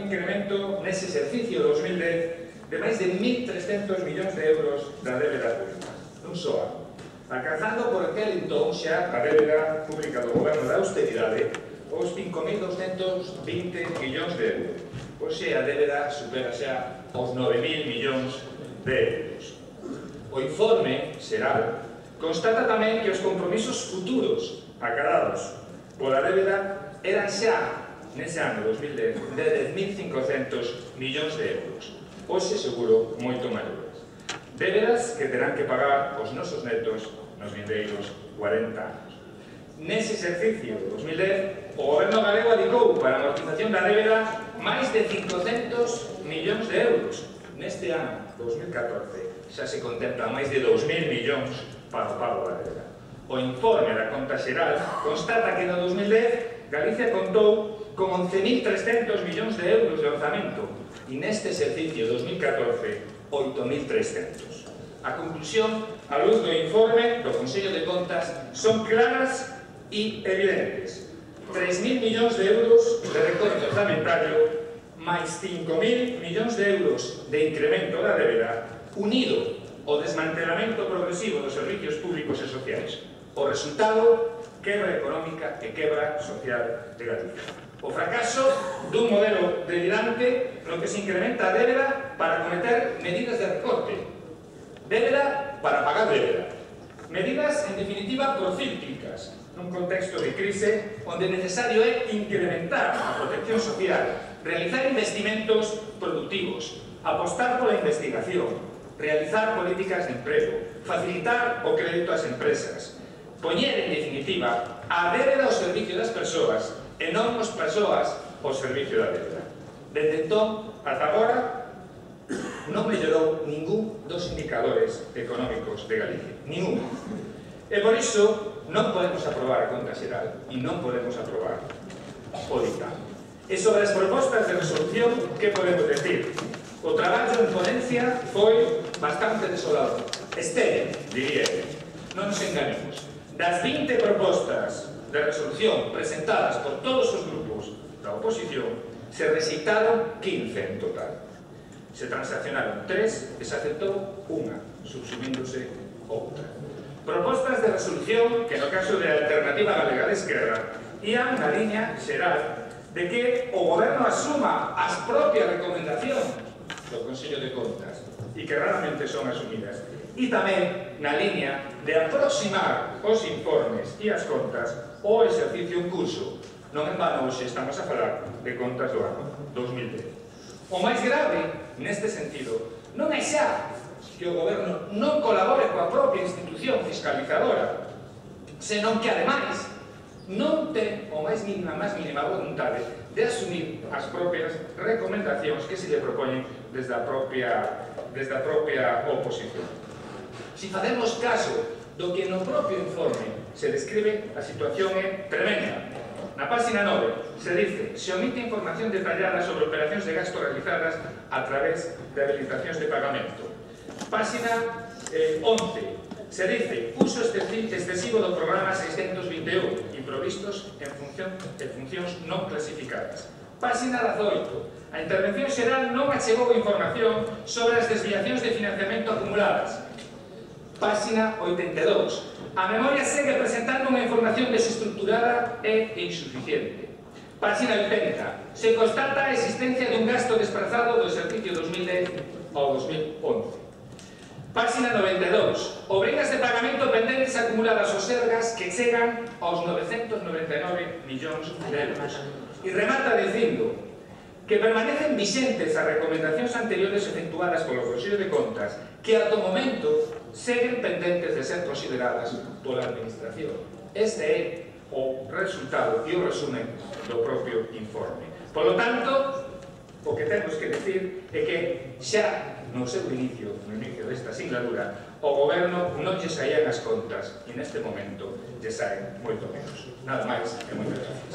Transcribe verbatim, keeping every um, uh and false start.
incremento nese exercicio dos mil dez de máis de mil trescentos millóns de euros da débeda pública, non só ano, alcanzando por aquel entón xa a débeda pública do goberno da austeridade os cinco mil doscentos vinte millóns de euros. Hoxe a débeda supera xa os nove mil millóns de euros. O informe xeral constata tamén que os compromisos futuros acadados pola débeda eran xa nese ano dos mil dez de dez mil cincocentos millóns de euros. Hoxe seguro moito maiores. Débedas que terán que pagar os nosos netos nos vindeiros cuarenta anos. Nese exercicio dos mil dez, o goberno galego adicou para a amortización da débeda máis de cincocentos millóns de euros. Neste ano, dos mil catorce, xa se contempla máis de dous mil millóns para o pago da débeda. O informe da conta xeral constata que no dos mil dez Galicia contou con once mil trescentos millóns de euros de orzamento e neste exercicio dos mil catorce, oito mil trescentos. A conclusión, a luz do informe do Consello de Contas, son claras e evidentes. tres mil millóns de euros de recorte orzamentario máis cinco mil millóns de euros de incremento da débeda unido ao desmantelamento progresivo dos servicios públicos e sociais. O resultado, quebra económica e quebra social de Galicia. O fracaso dun modelo delirante no que se incrementa a débeda para cometer medidas de recorte. Débeda para pagar débeda. Medidas, en definitiva, procíclicas, nun contexto de crise onde necesario é incrementar a protección social, realizar investimentos productivos, apostar pola investigación, realizar políticas de emprego, facilitar o crédito ás empresas, poñer, en definitiva, a débeda ao servicio das persoas e non as persoas ao servicio da débeda. Desde entón, ata agora, non mellorou ningún dos indicadores económicos de Galicia. Ningún. E por iso, non podemos aprobar a conta xeral e non podemos aprobar o dictamen. E sobre as propostas de resolución, que podemos decir? O traballo en ponencia foi bastante desolador. Estéril, diría eu. Non nos enganemos. Das vinte propostas de resolución presentadas por todos os grupos da oposición, se rexeitaron quince en total. Se transaccionaron tres e se aceptou unha, subsumíndose outra. Propostas de resolución que, no caso de Alternativa Galega de Esquerra, ían na liña xeral de que o goberno asuma as propias recomendacións do Consello de Contas e que raramente son asumidas. E tamén na liña de aproximar os informes e as contas ao exercicio en curso. Non en vano hoxe estamos a falar de contas do ano dos mil dez. O máis grave, neste sentido, non é xa que o goberno non colabore coa propia institución fiscalizadora, senón que, ademais, non ten o máis mínima, máis mínima vontade de asumir as propias recomendacións que se lle propoñen desde a propia, desde a propia oposición. Si facemos caso do que no propio informe se describe, a situación é tremenda. Na página nove se dice: se omite información detallada sobre operacións de gasto realizadas a través de habilitacións de pagamento. Página eh, once se dice: uso excesivo do programa seiscentos vinte e un improvistos en, función, en funcións non clasificadas. Página dezoito. A intervención xeral non achegou información sobre as desviacións de financiamento acumuladas. Página oitenta e dous. A memoria segue presentando unha información desestructurada e insuficiente. Página oitenta. Se constata a existencia dun gasto desprazado do exercicio dos mil dez ao dos mil once. Página noventa e dous. Obrigas de pagamento pendentes acumuladas aos Sergas que chegan aos novecentos noventa e nove millóns de euros. E remata dicindo que permanecen vixentes as recomendacións anteriores efectuadas polo Consello de Contas que, ata o momento, seguen pendentes de ser consideradas pola Administración. Este é o resultado e o resumen do propio informe. Por lo tanto, o que temos que decir é que xa no seu inicio, no inicio desta singladura, o goberno non lle saían as contas e neste momento lle saen moito menos. Nada máis e moitas gracias.